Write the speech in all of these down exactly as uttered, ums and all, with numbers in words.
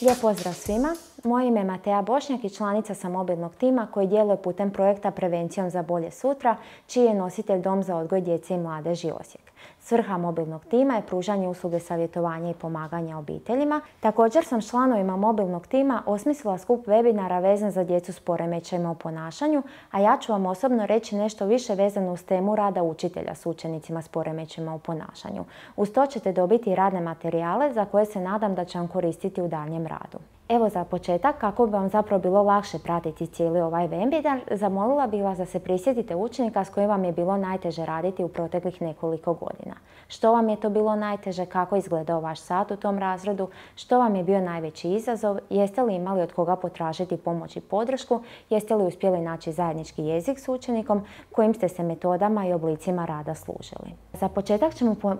Lijep pozdrav svima. Moje ime je Mateja Bošnjak i članica sam mobilnog tima koji djeluje putem projekta Prevencijom za bolje sutra, čiji je nositelj Dom za odgoj djece i mladeži Osijek. Svrha mobilnog tima je pružanje usluge savjetovanja i pomaganja obiteljima. Također sam s članovima mobilnog tima osmislila skup webinara vezan za djecu s poremećajima u ponašanju, a ja ću vam osobno reći nešto više vezano uz temu rada učitelja s učenicima s poremećajima u ponašanju. Uz to ćete dobiti radne materijale za koje se nadam da će vam koristiti u daljnjem radu. Evo za početak, kako bi vam zapravo bilo lakše pratiti cijeli ovaj webinar, zamolila bih vas da se prisjetite učenika s kojim vam je bilo najteže raditi u proteklih nekoliko godina. Što vam je to bilo najteže, kako je izgledao vaš sat u tom razredu, što vam je bio najveći izazov, jeste li imali od koga potražiti pomoć i podršku, jeste li uspjeli naći zajednički jezik s učenikom, kojim ste se metodama i oblicima rada služili. Za početak ćemo po, e,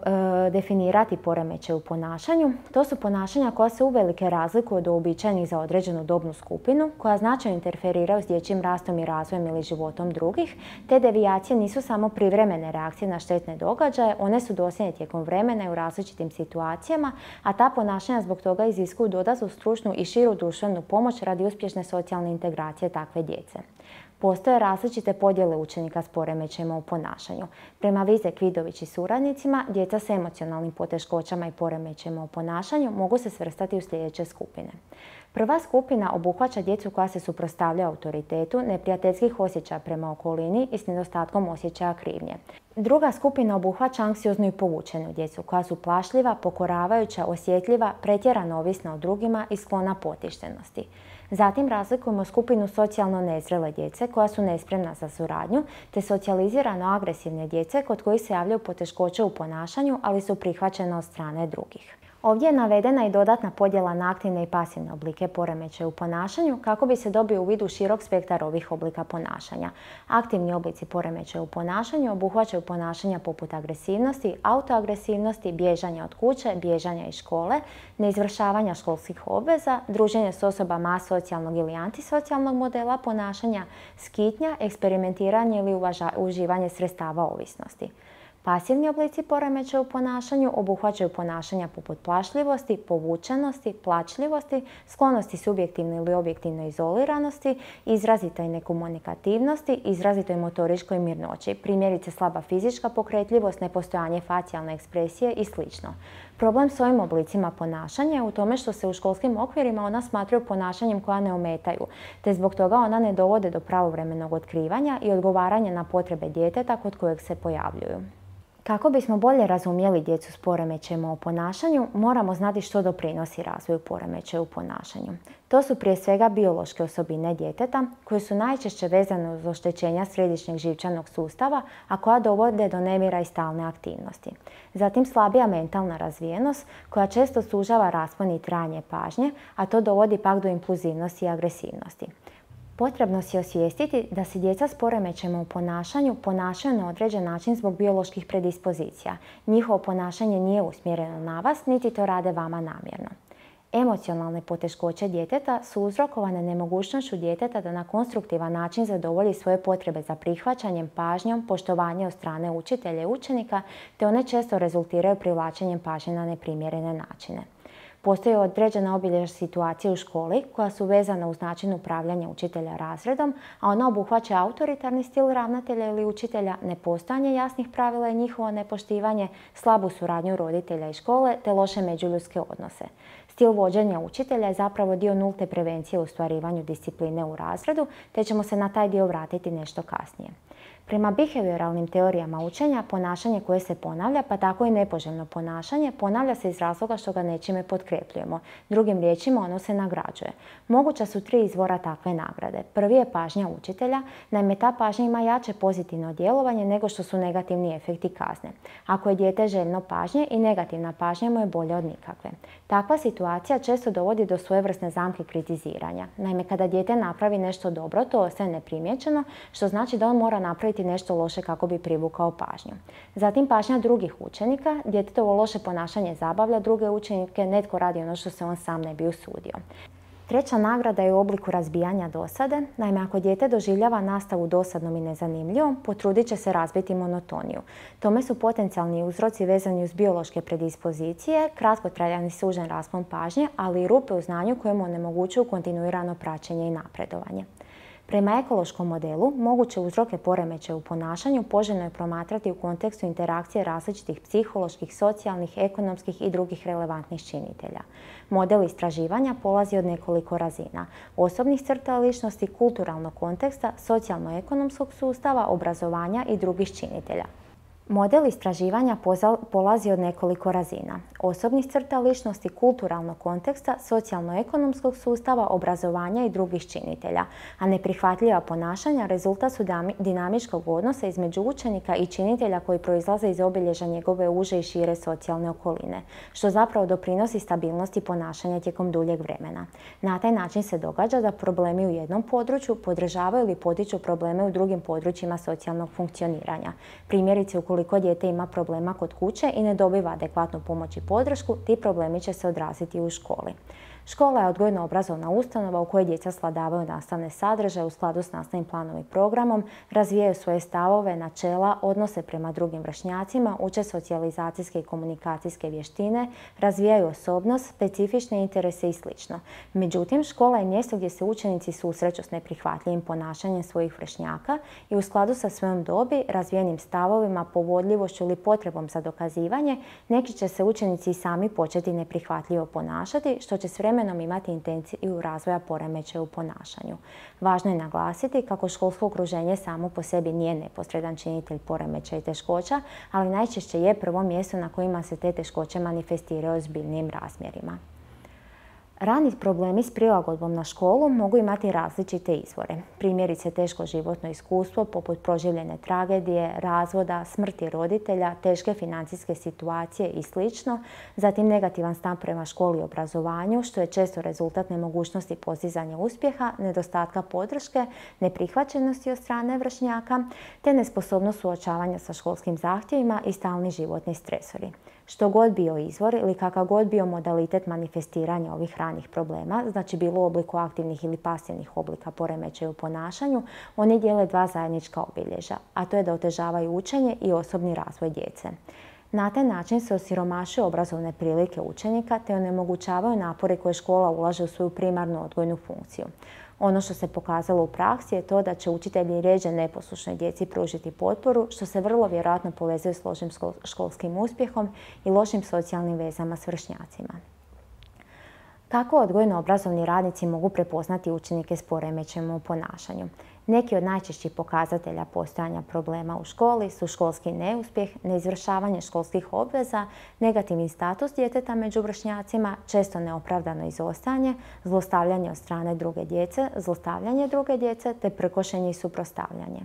definirati poremećaj u ponašanju. To su ponašanja koja se uvelike razlikuju od uobičajenih za određenu dobnu skupinu, koja značajno interferiraju s dječjim rastom i razvojem ili životom drugih. Te devijacije nisu samo privremene reakcije na štetne događaje, one su dosljedne tijekom vremena i u različitim situacijama, a ta ponašanja zbog toga iziskuju dodatnu stručnu i širu društvenu pomoć radi uspješne socijalne integracije takve djece. Postoje različite podjele učenika s poremećajima u ponašanju. Prema Vizek, Vidović i suradnicima, djeca s emocionalnim poteškoćama i poremećajima u ponašanju mogu se svrstati u sljedeće skupine. Prva skupina obuhvaća djecu koja se suprotstavljaju autoritetu, neprijateljskih osjećaja prema okolini i s nedostatkom osjećaja krivnje. Druga skupina obuhvaća anksioznu i povučenu djecu koja su plašljiva, pokoravajuća, osjetljiva, pretjerano ovisna o drugima i sklona potištenosti. Zatim razlikujemo skupinu socijalno nezrele djece koja su nespremna za suradnju, te socijalizirano agresivne djece kod kojih se javljaju poteškoće u ponašanju, ali su prihvaćene od strane drugih. Ovdje je navedena i dodatna podjela na aktivne i pasivne oblike poremećaja u ponašanju kako bi se dobio uvid u širok spektar ovih oblika ponašanja. Aktivni oblici poremećaja u ponašanju obuhvaćaju ponašanja poput agresivnosti, autoagresivnosti, bježanja od kuće, bježanja iz škole, neizvršavanja školskih obveza, druženje s osobama asocijalnog ili antisocijalnog modela ponašanja, skitnja, eksperimentiranje ili uvaža, uživanje sredstava ovisnosti. Pasivni oblici poremećaja u ponašanju obuhvaćaju ponašanja poput plašljivosti, povučenosti, plačljivosti, sklonosti subjektivne ili objektivne izoliranosti, izrazitoj nekomunikativnosti, izrazitoj motoričkoj mirnoći, primjerice slaba fizička pokretljivost, nepostojanje facijalne ekspresije i sl. Problem s ovim oblicima ponašanja je u tome što se u školskim okvirima ona smatraju ponašanjem koja ne ometaju, te zbog toga ona ne dovode do pravovremenog otkrivanja i odgovaranja na potrebe djeteta kod kojeg se pojavljuju. Kako bismo bolje razumjeli djecu s poremećajima u ponašanju, moramo znati što doprinosi razvoju poremećaja u ponašanju. To su prije svega biološke osobine djeteta, koje su najčešće vezane uz oštećenja središnjeg živčanog sustava, a koja dovode do nemira i stalne aktivnosti. Zatim slabija mentalna razvijenost, koja često sužava raspon i trajanje pažnje, a to dovodi pak do impulzivnosti i agresivnosti. Potrebno si osvijestiti da se djeca s poremećajima u ponašanju ponašaju na određen način zbog bioloških predispozicija. Njihovo ponašanje nije usmjereno na vas, niti to rade vama namjerno. Emocionalne poteškoće djeteta su uzrokovane nemogućnošću djeteta da na konstruktivan način zadovolji svoje potrebe za prihvaćanjem, pažnjom, poštovanje od strane učitelja i učenika, te one često rezultiraju privlačenjem pažnje na neprimjerene načine. Postoji određena obilježja situacije u školi koja su vezana uz način upravljanja učitelja razredom, a ona obuhvaća autoritarni stil ravnatelja ili učitelja, nepostojanje jasnih pravila i njihovo nepoštivanje, slabu suradnju roditelja i škole te loše međuljudske odnose. Stil vođenja učitelja je zapravo dio nulte prevencije u ostvarivanju discipline u razredu, te ćemo se na taj dio vratiti nešto kasnije. Prema behavioralnim teorijama učenja, ponašanje koje se ponavlja, pa tako i nepoželjno ponašanje, ponavlja se iz razloga što ga nečime potkrepljujemo. Drugim riječima, ono se nagrađuje. Moguća su tri izvora takve nagrade. Prvi je pažnja učitelja, naime ta pažnja ima jače pozitivno djelovanje nego što su negativni efekti kazne. Ako je dijete željno pažnje, i negativna pažnja mu je bolja od nikakve. Takva situacija često dovodi do svojevrsne zamke kritiziranja. Naime, kada dijete napravi nešto dobro, to ostaje neprimjećeno, što znači da on mora napraviti nešto loše kako bi privukao pažnju. Zatim pažnja drugih učenika. Djetetovo loše ponašanje zabavlja druge učenike, netko radi ono što se on sam ne bi usudio. Treća nagrada je u obliku razbijanja dosade. Naime, ako dijete doživljava nastavu dosadnom i nezanimljivom, potrudit će se razbiti monotoniju. Tome su potencijalni uzroci vezani uz biološke predispozicije, kratkotrajan i sužen raspon pažnje, ali i rupe u znanju koje mu onemogućuju kontinuirano praćenje i napredovanje. Prema ekološkom modelu, moguće uzroke poremećaja u ponašanju poželjno je promatrati u kontekstu interakcije različitih psiholoških, socijalnih, ekonomskih i drugih relevantnih činitelja. Model istraživanja polazi od nekoliko razina: osobnih crta ličnosti, kulturalnog konteksta, socijalno-ekonomskog sustava, obrazovanja i drugih činitelja. Model istraživanja polazi od nekoliko razina: osobnih crta ličnosti, kulturalnog konteksta, socijalno-ekonomskog sustava, obrazovanja i drugih činitelja, a neprihvatljiva ponašanja rezultat su dinamičkog odnosa između učenika i činitelja koji proizlaze iz obilježja njegove uže i šire socijalne okoline, što zapravo doprinosi stabilnosti ponašanja tijekom duljeg vremena. Na taj način se događa da problemi u jednom području podržavaju ili potiču probleme u drugim područjima socijalnog funkcioniranja. Primjerice, ukoliko Ukoliko dijete ima problema kod kuće i ne dobiva adekvatnu pomoć i podršku, ti problemi će se odraziti u školi. Škola je odgojno-obrazovna ustanova u kojoj djeca svladavaju nastavne sadržaje u skladu s nastavnim planom i programom, razvijaju svoje stavove, načela, odnose prema drugim vršnjacima, uče socijalizacijske i komunikacijske vještine, razvijaju osobnost, specifične interese i sl. Međutim, škola je mjesto gdje se učenici susreću s neprihvatljivim ponašanjem svojih vršnjaka i u skladu sa svojom dobi, razvijenim stavovima, povodljivošću ili potrebom za dokazivanje, neki će se učenici sami početi neprihvatljivo ponašati, što će s vremenom imati intenciju razvoja poremećaja u ponašanju. Važno je naglasiti kako školsko okruženje samo po sebi nije neposredan činitelj poremećaja i teškoća, ali najčešće je prvo mjesto na kojima se te teškoće manifestiraju u ozbiljnijim razmjerima. Rani problemi s prilagodbom na školu mogu imati različite izvore. Primjerice teško životno iskustvo poput proživljene tragedije, razvoda, smrti roditelja, teške financijske situacije i sl. Zatim negativan stav prema školi i obrazovanju, što je često rezultat nemogućnosti postizanja uspjeha, nedostatka podrške, neprihvaćenosti od strane vršnjaka, te nesposobnost suočavanja sa školskim zahtjevima i stalni životni stresori. Što god bio izvor ili kakav god bio modalitet manifestiranja ovih ranih problema, znači bilo u obliku aktivnih ili pasivnih oblika poremećaja u ponašanju, oni dijele dva zajednička obilježja, a to je da otežavaju učenje i osobni razvoj djece. Na taj način se osiromašuju obrazovne prilike učenika te onemogućavaju napore koje škola ulaže u svoju primarnu odgojnu funkciju. Ono što se pokazalo u praksi je to da će učitelji rjeđe neposlušnoj djeci pružiti potporu, što se vrlo vjerojatno povezuje s lošim školskim uspjehom i lošim socijalnim vezama s vršnjacima. Kako odgojno-obrazovni radnici mogu prepoznati učenike s poremećajem u ponašanju? Neki od najčešćih pokazatelja postojanja problema u školi su školski neuspjeh, neizvršavanje školskih obveza, negativni status djeteta među vršnjacima, često neopravdano izostajanje, zlostavljanje od strane druge djece, zlostavljanje druge djece te prkošenje i suprotstavljanje.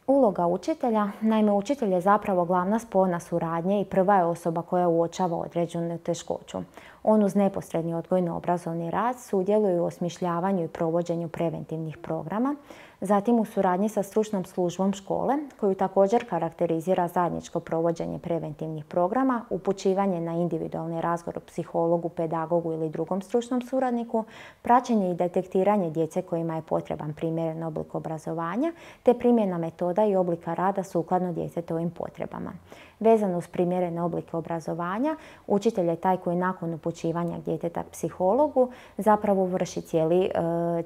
Uloga učitelja, naime učitelj je zapravo glavna spona suradnje i prva je osoba koja uočava određenu teškoću. On uz neposredni odgojno-obrazovni rad sudjeluje u osmišljavanju i provođenju preventivnih programa, zatim u suradnji sa stručnom službom škole, koju također karakterizira zajedničko provođenje preventivnih programa, upućivanje na individualni razgovor psihologu, pedagogu ili drugom stručnom suradniku, praćenje i detektiranje djece kojima je potreban primjeren oblik obrazovanja, te primjena metoda i oblika rada sukladno djetetovim potrebama. Vezano uz primjerene oblike obrazovanja, učitelj je taj koji nakon upućivanja djeteta psihologu zapravo vrši cijeli,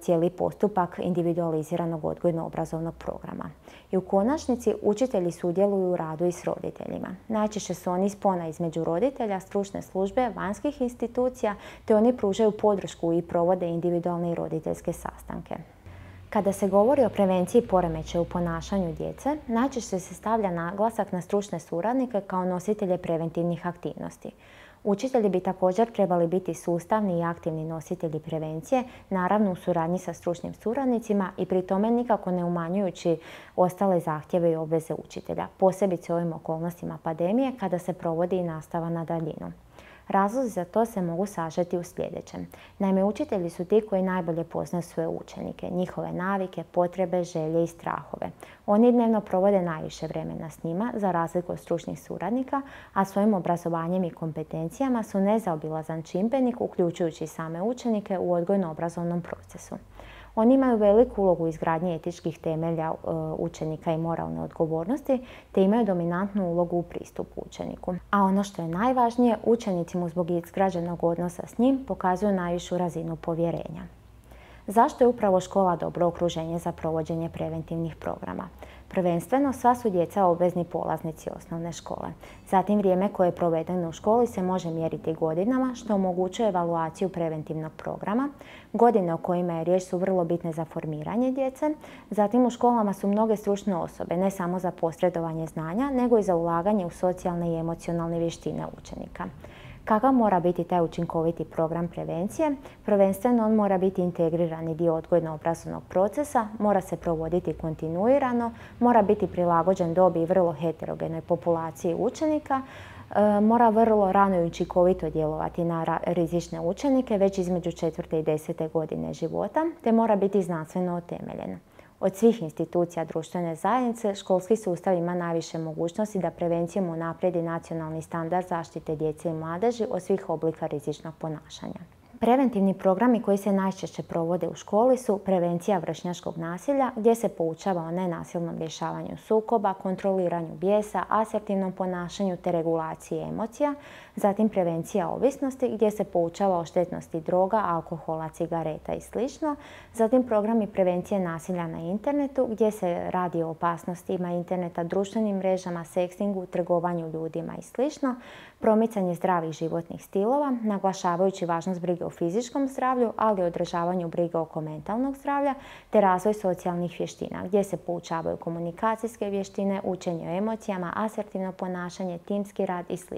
cijeli postupak individualiziranog odgojno-obrazovnog programa. I u konačnici učitelji sudjeluju u radu i s roditeljima. Najčešće su oni spona između roditelja, stručne službe, vanjskih institucija, te oni pružaju podršku i provode individualne i roditeljske sastanke. Kada se govori o prevenciji poremećaja u ponašanju djece, najčešće se stavlja naglasak na stručne suradnike kao nositelje preventivnih aktivnosti. Učitelji bi također trebali biti sustavni i aktivni nositelji prevencije, naravno u suradnji sa stručnim suradnicima i pri tome nikako ne umanjujući ostale zahtjeve i obveze učitelja, posebice u ovim okolnostima pandemije kada se provodi i nastava na daljinu. Razlozi za to se mogu sažeti u sljedećem. Naime, učitelji su ti koji najbolje poznaju svoje učenike, njihove navike, potrebe, želje i strahove. Oni dnevno provode najviše vremena s njima, za razliku od stručnih suradnika, a svojim obrazovanjem i kompetencijama su nezaobilazan čimbenik, uključujući same učenike u odgojno-obrazovnom procesu. Oni imaju veliku ulogu u izgradnji etičkih temelja učenika i moralne odgovornosti, te imaju dominantnu ulogu u pristupu učeniku. A ono što je najvažnije, učenici mu zbog izgrađenog odnosa s njim pokazuju najvišu razinu povjerenja. Zašto je upravo škola dobro okruženje za provođenje preventivnih programa? Prvenstveno, sva su djeca obvezni polaznici osnovne škole. Zatim, vrijeme koje je provedeno u školi se može mjeriti godinama, što omogućuje evaluaciju preventivnog programa. Godine o kojima je riječ su vrlo bitne za formiranje djece. Zatim, u školama su mnoge stručne osobe, ne samo za posredovanje znanja, nego i za ulaganje u socijalne i emocionalne vještine učenika. Kakav mora biti taj učinkoviti program prevencije? Prvenstveno, on mora biti integrirani dio odgojno-obrazovnog procesa, mora se provoditi kontinuirano, mora biti prilagođen dobi i vrlo heterogenoj populaciji učenika, e, mora vrlo rano i učinkovito djelovati na rizične učenike već između četvrte i desete godine života, te mora biti znanstveno utemeljen. Od svih institucija društvene zajednice, školski sustav ima najviše mogućnosti da prevencijom unaprijedi nacionalni standard zaštite djece i mladeži od svih oblika rizičnog ponašanja. Preventivni programi koji se najčešće provode u školi su prevencija vršnjačkog nasilja, gdje se poučava o nenasilnom rješavanju sukoba, kontroliranju bijesa, asertivnom ponašanju te regulaciji emocija. Zatim prevencija ovisnosti, gdje se poučava o štetnosti droga, alkohola, cigareta i sl. Zatim programi prevencije nasilja na internetu, gdje se radi o opasnostima interneta, društvenim mrežama, sekstingu, trgovanju ljudima i sl. Promicanje zdravih životnih stilova, naglašavajući važnost brige o fizičkom zdravlju, ali i održavanju brige oko mentalnog zdravlja, te razvoj socijalnih vještina, gdje se poučavaju komunikacijske vještine, učenje o emocijama, asertivno ponašanje, timski rad i sl.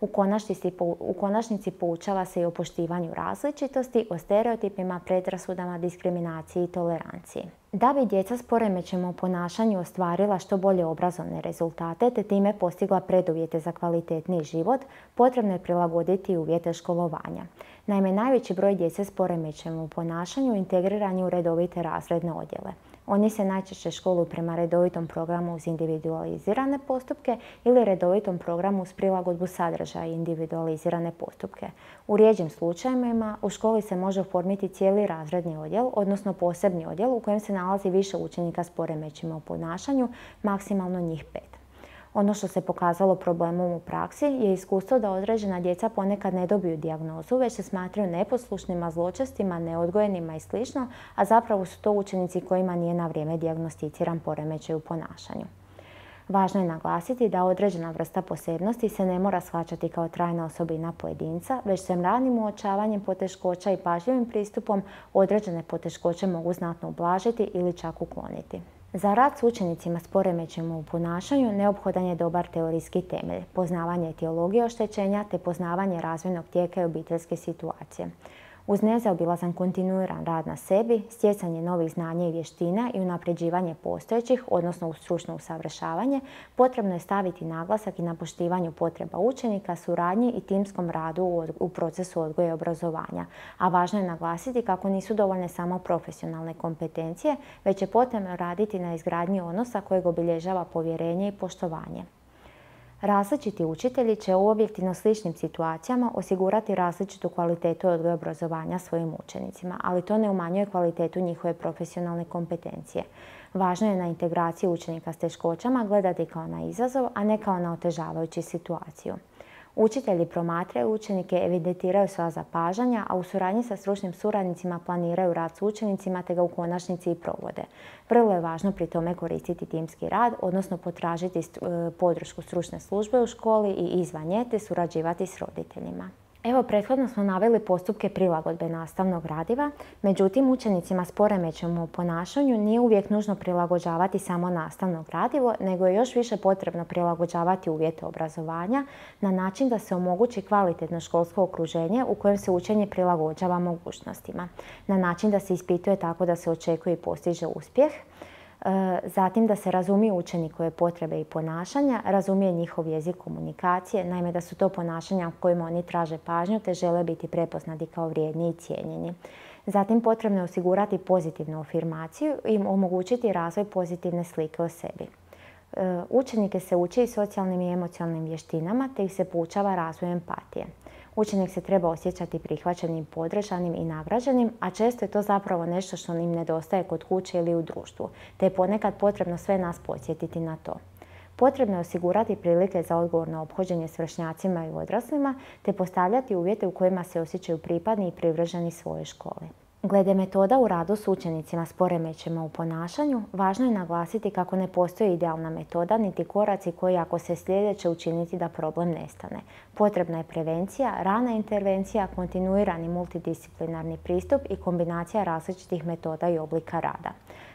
U konačnici, u konačnici poučava se i o poštivanju različitosti, o stereotipima, predrasudama, diskriminaciji i toleranciji. Da bi djeca s poremećajem u ponašanju ostvarila što bolje obrazovne rezultate te time postigla preduvjete za kvalitetniji život, potrebno je prilagoditi uvjete školovanja. Naime, najveći broj djece s poremećajem u ponašanju integriran je u redovite razredne odjele. Oni se najčešće školuju prema redovitom programu uz individualizirane postupke ili redovitom programu uz prilagodbu sadržaja i individualizirane postupke. U rjeđim slučajevima u školi se može oformiti cijeli razredni odjel, odnosno posebni odjel u kojem se nalazi više učenika s poremećajima u ponašanju, maksimalno njih pet. Ono što se pokazalo problemom u praksi je iskustvo da određena djeca ponekad ne dobiju dijagnozu, već se smatraju neposlušnima, zločestima, neodgojenima i sl., a zapravo su to učenici kojima nije na vrijeme dijagnosticiran poremećaj u ponašanju. Važno je naglasiti da određena vrsta posebnosti se ne mora shvaćati kao trajna osobina pojedinca, već se ranim uočavanjem poteškoća i pažljivim pristupom određene poteškoće mogu znatno ublažiti ili čak ukloniti. Za rad s učenicima s poremećajima u ponašanju neophodan je dobar teorijski temelj, poznavanje etiologije oštećenja te poznavanje razvojnog tijeka i obiteljske situacije. Uz nezaobilazan kontinuiran rad na sebi, stjecanje novih znanja i vještina i unapređivanje postojećih, odnosno uz stručno usavršavanje, potrebno je staviti naglasak i na poštivanju potreba učenika, suradnji i timskom radu u procesu odgoja i obrazovanja. A važno je naglasiti kako nisu dovoljne samo profesionalne kompetencije, već je potrebno raditi na izgradnji odnosa kojeg obilježava povjerenje i poštovanje. Različiti učitelji će u objektivno sličnim situacijama osigurati različitu kvalitetu odgoja i obrazovanja svojim učenicima, ali to ne umanjuje kvalitetu njihove profesionalne kompetencije. Važno je na integraciji učenika s teškoćama gledati kao na izazov, a ne kao na otežavajuću situaciju. Učitelji promatraju učenike, evidentiraju sva zapažanja, a u suradnji sa stručnim suradnicima planiraju rad s učenicima te ga u konačnici i provode. Vrlo je važno pri tome koristiti timski rad, odnosno potražiti podršku stručne službe u školi i izvan nje te surađivati s roditeljima. Evo, prethodno smo naveli postupke prilagodbe nastavnog gradiva, međutim učenicima s poremećajem u ponašanju nije uvijek nužno prilagođavati samo nastavno gradivo, nego je još više potrebno prilagođavati uvjete obrazovanja na način da se omogući kvalitetno školsko okruženje u kojem se učenje prilagođava mogućnostima, na način da se ispituje tako da se očekuje i postiže uspjeh, Zatim da se razumije učenikove potrebe i ponašanja, razumije njihov jezik komunikacije, naime da su to ponašanja u kojima oni traže pažnju te žele biti prepoznati kao vrijedni i cijenjeni. Zatim potrebno je osigurati pozitivnu afirmaciju i omogućiti razvoj pozitivne slike o sebi. Učenike se uči i socijalnim i emocionalnim vještinama te ih se poučava razvoju empatije. Učenik se treba osjećati prihvaćenim, podržanim i nagrađenim, a često je to zapravo nešto što im nedostaje kod kuće ili u društvu, te je ponekad potrebno sve nas podsjetiti na to. Potrebno je osigurati prilike za odgovorno ophođenje s vršnjacima i odraslima, te postavljati uvjete u kojima se osjećaju pripadni i privrženi svojoj školi. Glede metoda u radu s učenicima s poremećajima u ponašanju, važno je naglasiti kako ne postoji idealna metoda niti koraci koji ako se slijede će učiniti da problem nestane. Potrebna je prevencija, rana intervencija, kontinuirani multidisciplinarni pristup i kombinacija različitih metoda i oblika rada.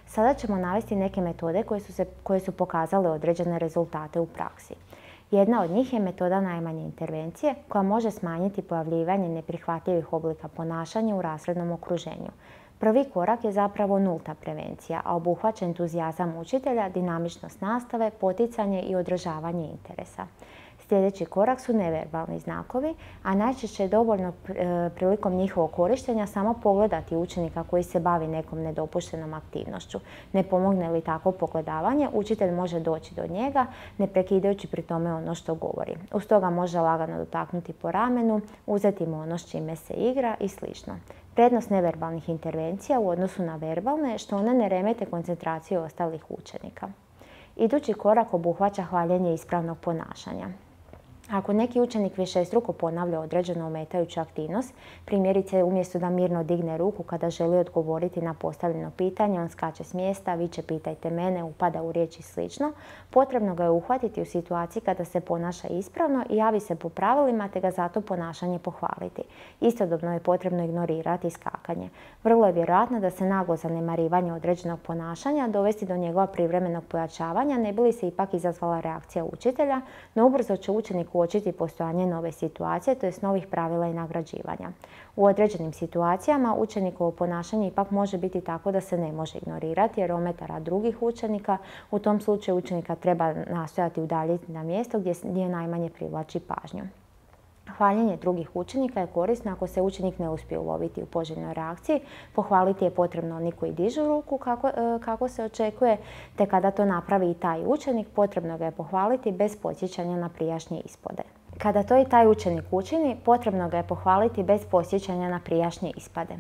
Sada ćemo navesti neke metode koje su, se, koje su pokazale određene rezultate u praksi. Jedna od njih je metoda najmanje intervencije koja može smanjiti pojavljivanje neprihvatljivih oblika ponašanja u razrednom okruženju. Prvi korak je zapravo nulta prevencija, a obuhvaća entuzijazam učitelja, dinamičnost nastave, poticanje i održavanje interesa. Sljedeći korak su neverbalni znakovi, a najčešće je dovoljno prilikom njihovog korištenja samo pogledati učenika koji se bavi nekom nedopuštenom aktivnošću. Ne pomogne li tako pogledavanje, učitelj može doći do njega, ne prekidajući pri tome ono što govori. Uz toga može lagano dotaknuti po ramenu, uzeti mu ono s čime se igra i sl. Prednost neverbalnih intervencija u odnosu na verbalne je što one ne remete koncentraciju ostalih učenika. Idući korak obuhvaća hvaljenje ispravnog ponašanja. Ako neki učenik višestruko ponavlja određenu ometajuću aktivnost, primjerice umjesto da mirno digne ruku kada želi odgovoriti na postavljeno pitanje, on skače s mjesta, viče pitajte mene, upada u riječ i sl. Potrebno ga je uhvatiti u situaciji kada se ponaša ispravno i javi se po pravilima te ga zato ponašanje pohvaliti. Istodobno je potrebno ignorirati skakanje. Vrlo je vjerojatno da se naglo zanemarivanje određenog ponašanja dovesti do njegova privremenog pojačavanja, ne bi li se ipak izazvala reakcija učitelja, no ubrzo će učenik uočiti postojanje nove situacije, to jest novih pravila i nagrađivanja. U određenim situacijama učenikovo ponašanje ipak može biti tako da se ne može ignorirati jer ometa drugih učenika. U tom slučaju učenika treba nastojati udaljiti na mjesto gdje najmanje privlači pažnju. Hvaljenje drugih učenika je korisno ako se učenik ne uspije uloviti u poželjnoj reakciji. Pohvaliti je potrebno oni koji dižu ruku kako, kako se očekuje, te kada to napravi i taj učenik, potrebno ga je pohvaliti bez podsjećanja na prijašnje ispade. Kada to i taj učenik učini, potrebno ga je pohvaliti bez podsjećanja na prijašnje ispade.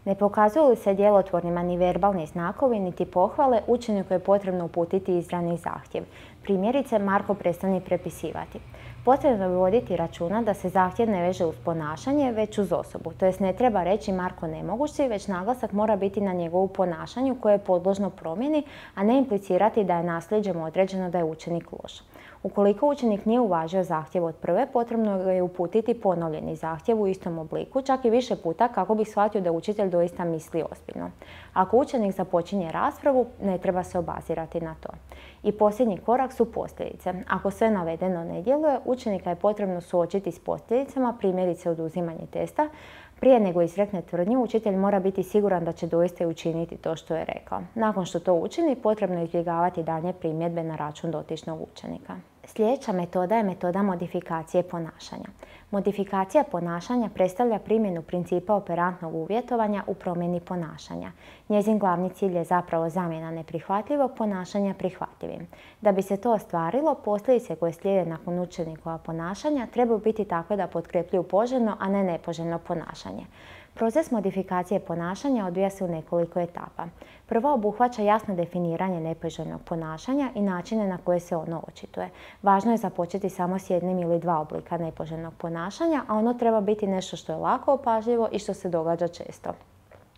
Ne pokazuju li se djelotvornima ni verbalni znakovi, niti pohvale, učeniku je potrebno uputiti izravni zahtjev. Primjerice, Marko prestani prepisivati. Potrebno je voditi računa da se zahtjev ne veže uz ponašanje, već uz osobu. To jest ne treba reći Marko ne moguć si, već naglasak mora biti na njegovu ponašanju koje je podložno promjeni, a ne implicirati da je nasljeđem određeno da je učenik loš. Ukoliko učenik nije uvažio zahtjev od prve, potrebno je uputiti ponovljeni zahtjev u istom obliku, čak i više puta kako bi shvatio da učitelj doista misli ozbiljno. Ako učenik započinje raspravu, ne treba se obazirati na to. I posljednji korak su posljedice. Ako sve navedeno ne djeluje, učenika je potrebno suočiti s posljedicama, primjerice oduzimanje testa. Prije nego izrekne tvrdnju, učitelj mora biti siguran da će doista učiniti to što je rekao. Nakon što to učini, potrebno je izbjegavati daljnje primjedbe na račun dotičnog učenika. Sljedeća metoda je metoda modifikacije ponašanja. Modifikacija ponašanja predstavlja primjenu principa operantnog uvjetovanja u promjeni ponašanja. Njezin glavni cilj je zapravo zamjena neprihvatljivog ponašanja prihvatljivim. Da bi se to ostvarilo, posljedice koje slijede nakon učenikova ponašanja trebaju biti takve da potkrepljuju poželjno, a ne nepoželjno ponašanje. Proces modifikacije ponašanja odvija se u nekoliko etapa. Prva obuhvaća jasno definiranje nepoželjnog ponašanja i načine na koje se ono očituje. Važno je započeti samo s jednim ili dva oblika nepoželjnog ponašanja, a ono treba biti nešto što je lako opažljivo i što se događa često.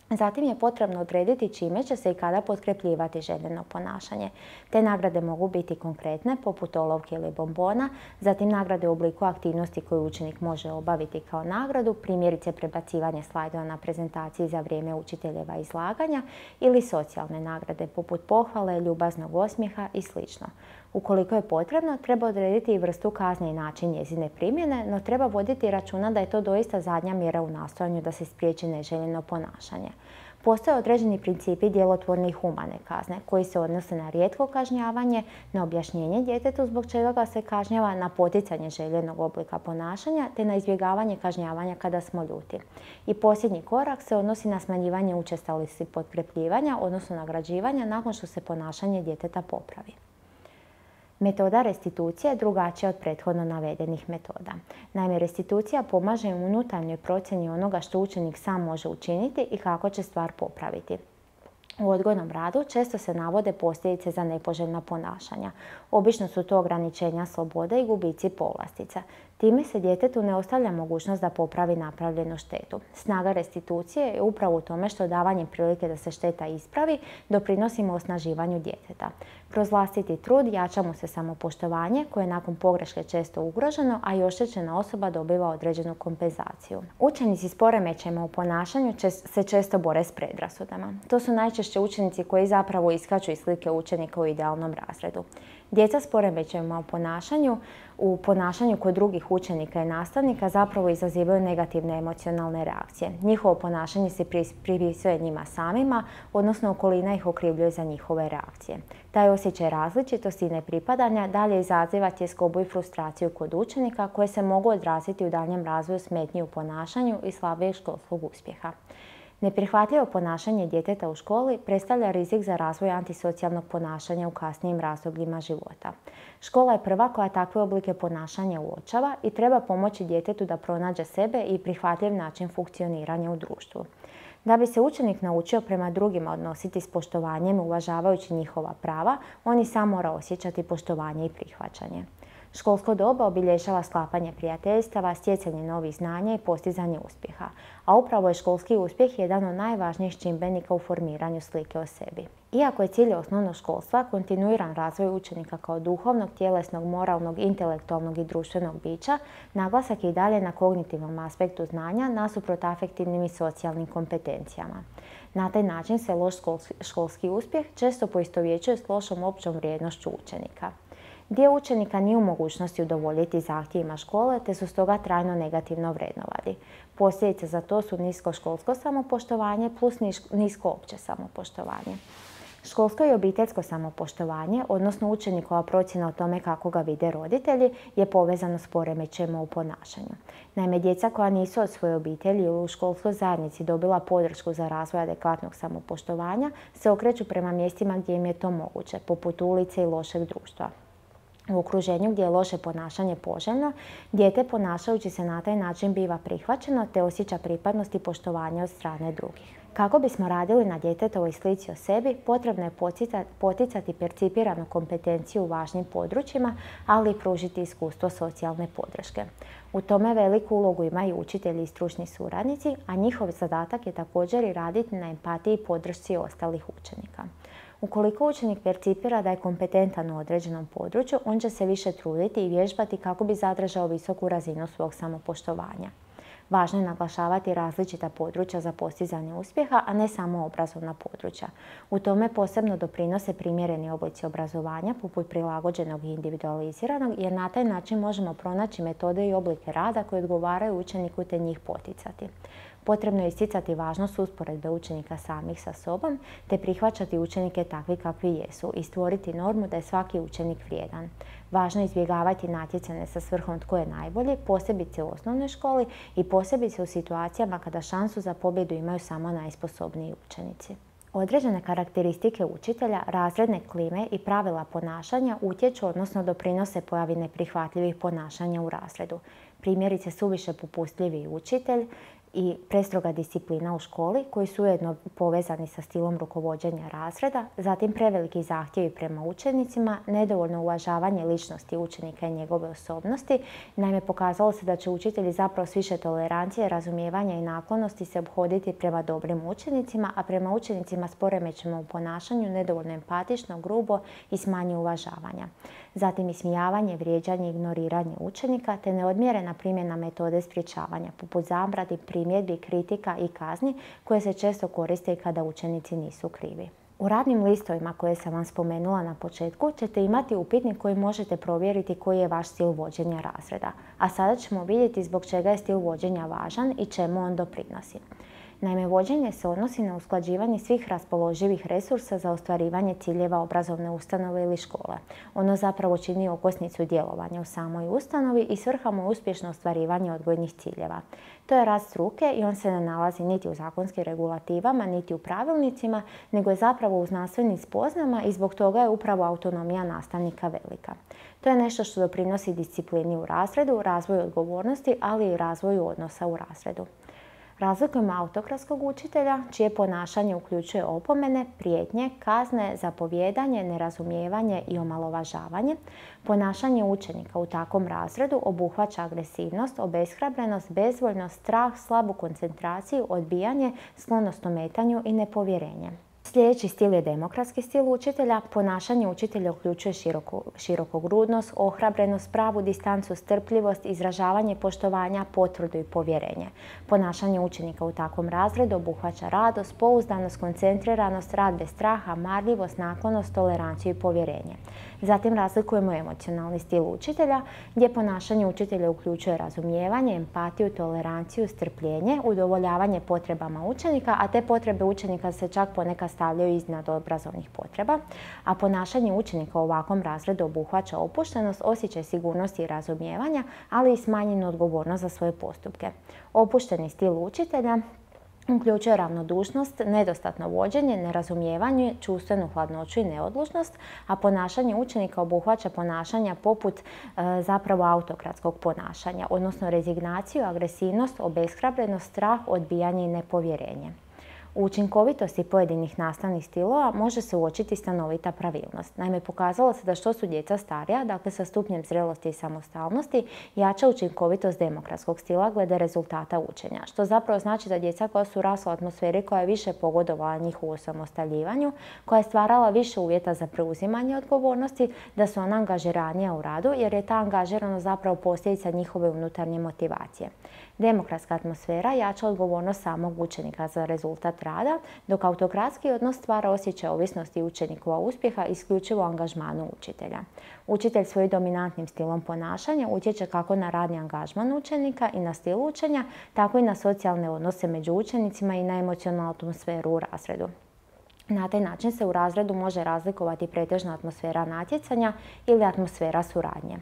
Zatim je potrebno odrediti čime će se i kada potkrepljivati željeno ponašanje. Te nagrade mogu biti konkretne, poput olovke ili bombona, zatim nagrade u obliku aktivnosti koju učenik može obaviti kao nagradu, primjerice prebacivanje slajdova na prezentaciji za vrijeme učiteljeva izlaganja, ili socijalne nagrade poput pohvale, ljubaznog osmijeha i sl. Ukoliko je potrebno, treba odrediti i vrstu kazne i način njezine primjene, no treba voditi računa da je to doista zadnja mjera u nastojanju da se spriječi neželjeno ponašanje. Postoje određeni principi djelotvorne i humane kazne koji se odnose na rijetko kažnjavanje, na objašnjenje djetetu zbog čega ga se kažnjava, na poticanje željenog oblika ponašanja te na izbjegavanje kažnjavanja kada smo ljuti. I posljednji korak se odnosi na smanjivanje učestalosti potkrepljivanja, odnosno nagrađivanja nakon što se ponašanje djeteta popravi. Metoda restitucije je drugačija od prethodno navedenih metoda. Naime, restitucija pomaže u unutarnjoj procjeni onoga što učenik sam može učiniti i kako će stvar popraviti. U odgojnom radu često se navode posljedice za nepoželjna ponašanja. Obično su to ograničenja slobode i gubici povlastica. Time se djetetu ne ostavlja mogućnost da popravi napravljenu štetu. Snaga restitucije je upravo u tome što davanjem prilike da se šteta ispravi doprinosimo osnaživanju djeteta. Kroz vlastiti trud jača mu se samopoštovanje koje je nakon pogreške često ugroženo, a i oštećena osoba dobiva određenu kompenzaciju. Učenici s poremećajima u ponašanju se često bore s predrasudama. To su najčešće učenici koji zapravo iskaču iz slike učenika u idealnom razredu. Djeca s poremećajima u ponašanju, u ponašanju kod drugih učenika i nastavnika zapravo izazivaju negativne emocionalne reakcije. Njihovo ponašanje se pripisuje njima samima, odnosno okolina ih okrivljuje za njihove reakcije. Taj osjećaj različitosti i nepripadanja dalje izaziva tjeskobu i frustraciju kod učenika koje se mogu odraziti u daljnjem razvoju smetnji u ponašanju i slabijeg školskog uspjeha. Neprihvatljivo ponašanje djeteta u školi predstavlja rizik za razvoj antisocijalnog ponašanja u kasnijim razdobljima života. Škola je prva koja takve oblike ponašanja uočava i treba pomoći djetetu da pronađe sebe i prihvatljiv način funkcioniranja u društvu. Da bi se učenik naučio prema drugima odnositi s poštovanjem, uvažavajući njihova prava, on i sam mora osjećati poštovanje i prihvaćanje. Školsko doba obilježava sklapanje prijateljstava, stjecanje novih znanja i postizanje uspjeha, a upravo je školski uspjeh jedan od najvažnijih čimbenika u formiranju slike o sebi. Iako je cilj osnovnog školstva kontinuiran razvoj učenika kao duhovnog, tjelesnog, moralnog, intelektualnog i društvenog bića, naglasak je i dalje na kognitivnom aspektu znanja nasuprot afektivnim i socijalnim kompetencijama. Na taj način se loš školski uspjeh često poistovjećuje s lošom općom vrijednošću učenika. Dio učenika nije u mogućnosti udovoljiti zahtjevima škole, te su stoga trajno negativno vrednovani. Posljedice za to su nisko školsko samopoštovanje plus nisko opće samopoštovanje. Školsko i obiteljsko samopoštovanje, odnosno učenikova procjena o tome kako ga vide roditelji, je povezano s poremećajima u ponašanju. Naime, djeca koja nisu od svoje obitelji ili u školskoj zajednici dobila podršku za razvoj adekvatnog samopoštovanja se okreću prema mjestima gdje im je to moguće, poput ulice i lošeg društva. U okruženju gdje je loše ponašanje poželjno, dijete ponašajući se na taj način biva prihvaćeno te osjeća pripadnost i poštovanje od strane drugih. Kako bismo radili na djetetovoj slici o sebi, potrebno je poticati percipiranu kompetenciju u važnim područjima, ali i pružiti iskustvo socijalne podrške. U tome veliku ulogu imaju učitelji i stručni suradnici, a njihov zadatak je također i raditi na empatiji i podršci ostalih učenika. Ukoliko učenik percipira da je kompetentan u određenom području, on će se više truditi i vježbati kako bi zadržao visoku razinu svog samopoštovanja. Važno je naglašavati različita područja za postizanje uspjeha, a ne samo obrazovna područja. U tome posebno doprinose primjereni oblici obrazovanja, poput prilagođenog i individualiziranog, jer na taj način možemo pronaći metode i oblike rada koje odgovaraju učeniku te njih poticati. Potrebno je isticati važnost usporedbe učenika samih sa sobom, te prihvaćati učenike takvi kakvi jesu i stvoriti normu da je svaki učenik vrijedan. Važno je izbjegavati natjecanje sa svrhom tko je najbolji, posebice u osnovnoj školi i posebice u situacijama kada šansu za pobjedu imaju samo najsposobniji učenici. Određene karakteristike učitelja, razredne klime i pravila ponašanja utječu, odnosno doprinose pojavi neprihvatljivih ponašanja u razredu. Primjerice suviše popustljivi učitelj i prestroga disciplina u školi koji su ujedno povezani sa stilom rukovođenja razreda, zatim preveliki zahtjevi prema učenicima, nedovoljno uvažavanje ličnosti učenika i njegove osobnosti. Naime, pokazalo se da će učitelji zapravo s više tolerancije, razumijevanja i naklonosti se ophoditi prema dobrim učenicima, a prema učenicima s poremećajima u ponašanju nedovoljno empatično, grubo i s manje uvažavanja. Zatim ismijavanje, vrijeđanje i ignoriranje učenika te neodmjerena primjena metode sprječavanja, poput zabrani, primjedbi, kritika i kazni koje se često koriste i kada učenici nisu krivi. U radnim listovima koje sam vam spomenula na početku ćete imati upitnik koji možete provjeriti koji je vaš stil vođenja razreda. A sada ćemo vidjeti zbog čega je stil vođenja važan i čemu on doprinosi. Naime, vođenje se odnosi na usklađivanje svih raspoloživih resursa za ostvarivanje ciljeva obrazovne ustanove ili škole. Ono zapravo čini okosnicu djelovanja u samoj ustanovi i svrha mu je uspješno ostvarivanje odgojnih ciljeva. To je rad struke i on se ne nalazi niti u zakonskim regulativama, niti u pravilnicima, nego je zapravo u znanstvenim spoznama i zbog toga je upravo autonomija nastavnika velika. To je nešto što doprinosi disciplini u razredu, razvoju odgovornosti, ali i razvoju odnosa u razredu. Razlikujemo autokratskog učitelja, čije ponašanje uključuje opomene, prijetnje, kazne, zapovijedanje, nerazumijevanje i omalovažavanje. Ponašanje učenika u takvom razredu obuhvaća agresivnost, obeshrabrenost, bezvoljnost, strah, slabu koncentraciju, odbijanje, sklonost ometanju i nepovjerenje. Sljedeći stil je demokratski stil učitelja. Ponašanje učitelja uključuje široko, širokogrudnost, ohrabrenost, pravu distancu, strpljivost, izražavanje poštovanja, potvrdu i povjerenje. Ponašanje učenika u takvom razredu obuhvaća radost, pouzdanost, koncentriranost, rad bez straha, marljivost, naklonost, toleranciju i povjerenje. Zatim razlikujemo emocionalni stil učitelja, gdje ponašanje učitelja uključuje razumijevanje, empatiju, toleranciju, strpljenje, udovoljavanje potrebama učenika, a te potrebe učenika se čak ponekad stavljaju iznad obrazovnih potreba, a ponašanje učenika u ovakvom razredu obuhvaća opuštenost, osjećaj sigurnosti i razumijevanja, ali i smanjenu odgovornost za svoje postupke. Opušteni stil učitelja uključuje ravnodušnost, nedostatno vođenje, nerazumijevanje, čustvenu hladnoću i neodlučnost, a ponašanje učenika obuhvaća ponašanja poput e, zapravo autokratskog ponašanja, odnosno rezignaciju, agresivnost, obeshrabrenost, strah, odbijanje i nepovjerenje. U učinkovitosti pojedinih nastavnih stilova može se uočiti stanovita pravilnost. Naime, pokazalo se da što su djeca starija, dakle sa stupnjem zrelosti i samostalnosti, jača učinkovitost demokratskog stila glede rezultata učenja, što zapravo znači da djeca koja su rasla u atmosferi koja je više pogodovala njihovu osamostaljivanju, koja je stvarala više uvjeta za preuzimanje odgovornosti, da su ona angažiranija u radu, jer je ta angažiranost zapravo posljedica njihove unutarnje motivacije. Demokratska atmosfera jača odgovornost samog učenika za rezultat rada, dok autokratski odnos stvara osjećaj ovisnosti učenikova uspjeha isključivo angažmanu učitelja. Učitelj svojim dominantnim stilom ponašanja utječe kako na radni angažman učenika i na stil učenja, tako i na socijalne odnose među učenicima i na emocionalnu atmosferu u razredu. Na taj način se u razredu može razlikovati pretežna atmosfera natjecanja ili atmosfera suradnje.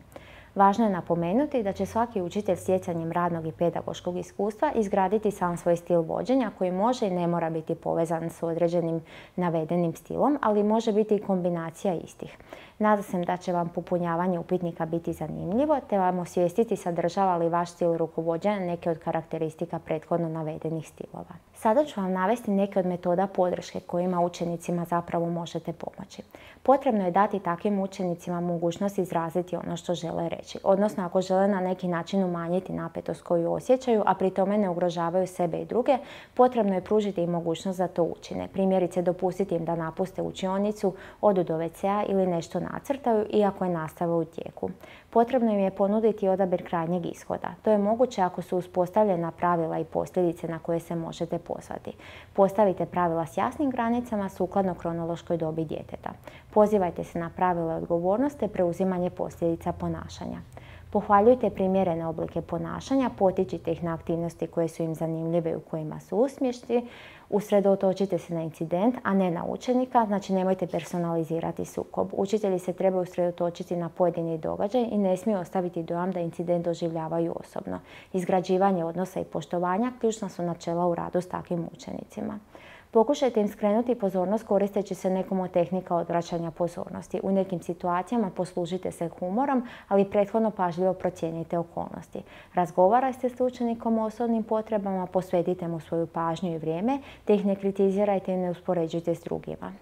Važno je napomenuti da će svaki učitelj stjecanjem radnog i pedagoškog iskustva izgraditi sam svoj stil vođenja koji može i ne mora biti povezan s određenim navedenim stilom, ali može biti i kombinacija istih. Nadam se da će vam popunjavanje upitnika biti zanimljivo, te vam osvijestiti sadržava li vaš stil rukovođenja neke od karakteristika prethodno navedenih stilova. Sada ću vam navesti neke od metoda podrške kojima učenicima zapravo možete pomoći. Potrebno je dati takvim učenicima mogućnost izraziti ono što žele reći, odnosno ako žele na neki način umanjiti napetost koju osjećaju, a pri tome ne ugrožavaju sebe i druge, potrebno je pružiti im mogućnost da to učine. Primjerice, dopustiti im da napuste učionicu, odu do ve ce a ili nešto nacrtaju, iako je nastava u tijeku. Potrebno im je ponuditi odabir krajnjeg ishoda. To je moguće ako su uspostavljena pravila i posljedice na koje se možete pozvati. Postavite pravila s jasnim granicama sukladno kronološkoj dobi djeteta. Pozivajte se na pravila odgovornosti te preuzimanje posljedica ponašanja. Pohvaljujte primjerene oblike ponašanja, potičite ih na aktivnosti koje su im zanimljive i u kojima su uspješni. Usredotočite se na incident, a ne na učenika, znači nemojte personalizirati sukob. Učitelji se trebaju usredotočiti na pojedini događaj i ne smiju ostaviti dojam da incident doživljavaju osobno. Izgrađivanje odnosa i poštovanja ključna su načela u radu s takvim učenicima. Pokušajte im skrenuti pozornost koristeći se nekom od tehnika odvraćanja pozornosti. U nekim situacijama poslužite se humorom, ali prethodno pažljivo procijenite okolnosti. Razgovarajte s učenikom o osobnim potrebama, posvetite mu svoju pažnju i vrijeme, te ih ne kritizirajte i ne uspoređujte s drugima.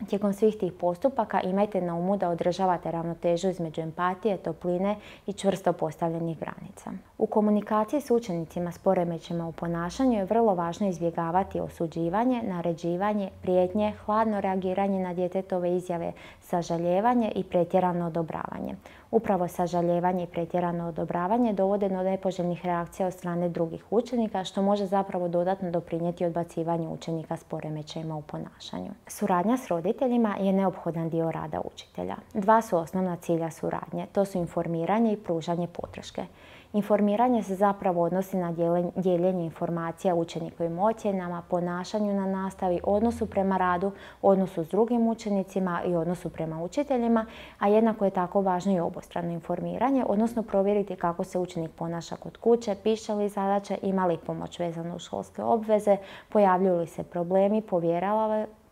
Tijekom svih tih postupaka imajte na umu da održavate ravnotežu između empatije, topline i čvrsto postavljenih granica. U komunikaciji s učenicima s poremećajima u ponašanju je vrlo važno izbjegavati osuđivanje, naređivanje, prijetnje, hladno reagiranje na djetetove izjave, sažalijevanje i pretjerano odobravanje. Upravo sažalijevanje i pretjerano odobravanje dovode do nepoželjnih reakcija od strane drugih učenika, što može zapravo dodatno doprinijeti odbacivanju učenika s poremećajima u ponašanju. Suradnja s roditeljima je neophodan dio rada učitelja. Dva su osnovna cilja suradnje, to su informiranje i pružanje podrške. Informiranje se zapravo odnosi na dijeljenje informacija o učenikovim ocjenama, ponašanju na nastavi, odnosu prema radu, odnosu s drugim učenicima i odnosu prema učiteljima, a jednako je tako važno i obostrano informiranje, odnosno provjeriti kako se učenik ponaša kod kuće, piše li zadaće, ima li pomoć vezano uz školske obveze, pojavljuju li se problemi,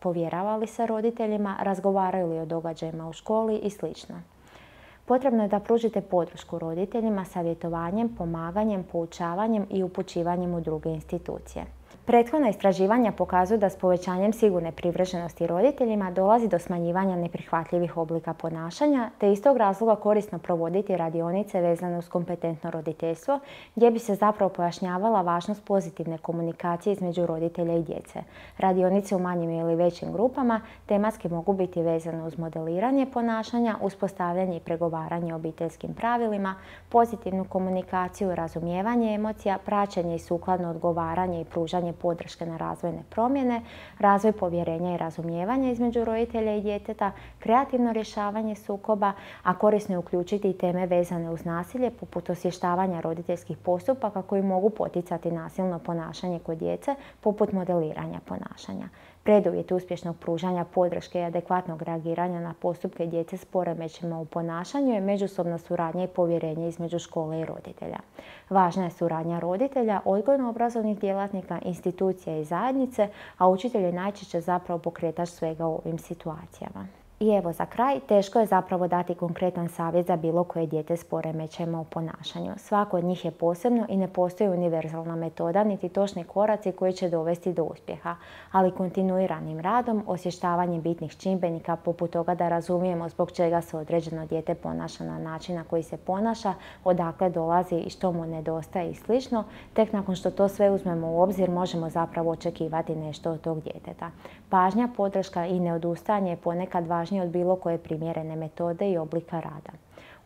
povjerava li se roditeljima, razgovaraju li o događajima u školi i sl. Potrebno je da pružite podršku roditeljima savjetovanjem, pomaganjem, poučavanjem i upućivanjem u druge institucije. Prethodna istraživanja pokazuju da s povećanjem sigurne privrženosti roditeljima dolazi do smanjivanja neprihvatljivih oblika ponašanja, te iz tog razloga korisno provoditi radionice vezane uz kompetentno roditeljstvo, gdje bi se zapravo pojašnjavala važnost pozitivne komunikacije između roditelja i djece. Radionice u manjim ili većim grupama tematski mogu biti vezane uz modeliranje ponašanja, uspostavljanje i pregovaranje o obiteljskim pravilima, pozitivnu komunikaciju, razumijevanje emocija, praćenje i sukladno odgovaranje i pružanje podrške na razvojne promjene, razvoj povjerenja i razumijevanja između roditelja i djeteta, kreativno rješavanje sukoba, a korisno je uključiti i teme vezane uz nasilje, poput osvještavanja roditeljskih postupaka koji mogu poticati nasilno ponašanje kod djece, poput modeliranja ponašanja. Preduvjet uspješnog pružanja podrške i adekvatnog reagiranja na postupke djece s poremećajima u ponašanju je međusobna suradnja i povjerenje između škole i roditelja. Važna je suradnja roditelja, odgojno-obrazovnih djelatnika, institucija i zajednice, a učitelj je najčešće zapravo pokretač svega u ovim situacijama. I evo za kraj, teško je zapravo dati konkretan savjet za bilo koje dijete s poremećajima u ponašanju. Svako od njih je posebno i ne postoji univerzalna metoda niti točni koraci koji će dovesti do uspjeha, ali kontinuiranim radom, osvještavanjem bitnih čimbenika poput toga da razumijemo zbog čega se određeno dijete ponaša na način na koji se ponaša, odakle dolazi i što mu nedostaje i slično, tek nakon što to sve uzmemo u obzir možemo zapravo očekivati nešto od tog djeteta. Pažnja, podrška i neodustajanje je ponekad važnije od bilo koje primjerene metode i oblika rada.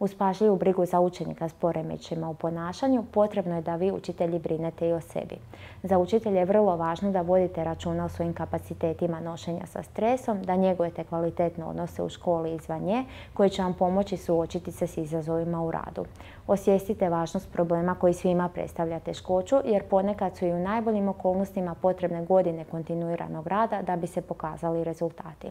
Uz pažljivu brigu za učenika s poremećajima u ponašanju, potrebno je da vi, učitelji, brinete i o sebi. Za učitelje je vrlo važno da vodite računa o svojim kapacitetima nošenja sa stresom, da njegujete kvalitetne odnose u školi i izvan nje, koji će vam pomoći suočiti se s izazovima u radu. Osvijestite važnost problema koji svima predstavlja teškoću, jer ponekad su i u najboljim okolnostima potrebne godine kontinuiranog rada da bi se pokazali rezultati.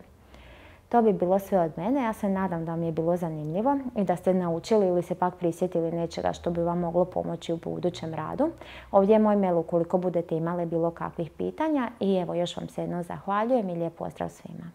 To bi bilo sve od mene. Ja se nadam da vam je bilo zanimljivo i da ste naučili ili se pak prisjetili nečega što bi vam moglo pomoći u budućem radu. Ovdje je moj mail ukoliko budete imali bilo kakvih pitanja i evo još vam se jednom zahvaljujem i lijep pozdrav svima.